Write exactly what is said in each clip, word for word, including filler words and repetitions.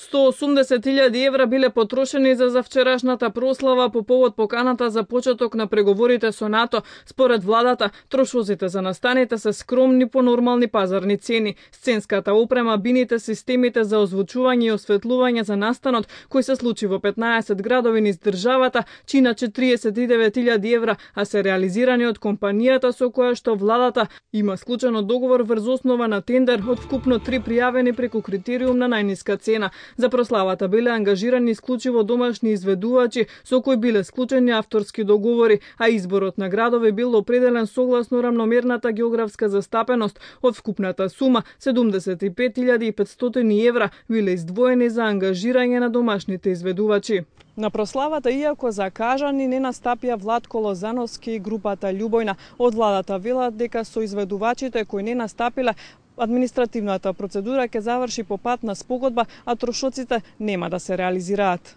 сто осумдесет илјади евра биле потрошени за завчерашната прослава по повод поканата за почеток на преговорите со НАТО. Според владата, трошоците за настаните се скромни по нормални пазарни цени. Сценската опрема, бините, системите за озвучување и осветлување за настанот, кој се случи во петнаесет градови низ државата, чиначе триесет и девет илјади евра, а се реализирани од компанијата со која што владата има склучено договор врз основа на тендер од вкупно три пријавени преку критериум на најниска цена. За прославата биле ангажирани исклучиво домашни изведувачи со кои биле склучени авторски договори, а изборот на градови бил определен согласно рамномерната географска застапеност. Од вкупната сума седумдесет и пет илјади и петстотини евра биле издвоени за ангажирање на домашните изведувачи. На прославата, иако закажани, не настапија Владко Лозановски и групата Љубојна. Од владата велат дека со изведувачите кои не настапиле, административната процедура ќе заврши по пат на спогодба, а трошоците нема да се реализираат.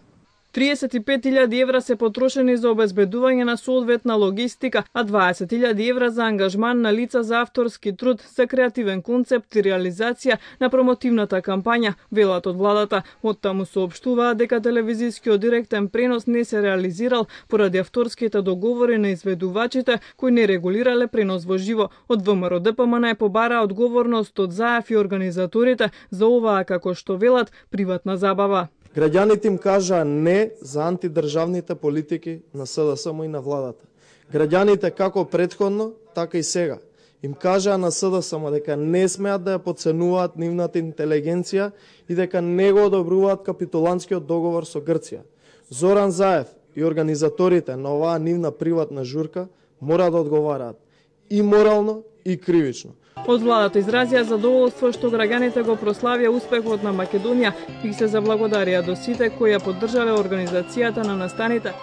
триесет и пет илјади евра се потрошени за обезбедување на соодветна логистика, а дваесет илјади евра за ангажман на лица за авторски труд, за креативен концепт и реализација на промотивната кампања, велат од владата. Оттаму соопштуваат дека телевизискиот директен пренос не се реализирал поради авторските договори на изведувачите кои не регулирале пренос во живо. Од ВМРО Д П М Н побара одговорност од ЗАЕФ и организаторите за оваа, како што велат, приватна забава. Граѓаните им кажаа не за антидржавните политики на С Д С М и на владата. Граѓаните како претходно, така и сега им кажаа на С Д С М дека не смеат да ја подценуваат нивната интелигенција и дека не го одобруваат капитулантскиот договор со Грција. Зоран Заев и организаторите на оваа нивна приватна журка мора да одговараат и морално и кривично. Од владата изразија задоволство што граѓаните го прославија успехот на Македонија и се заблагодарија до сите кои ја поддржале организацијата на настаните.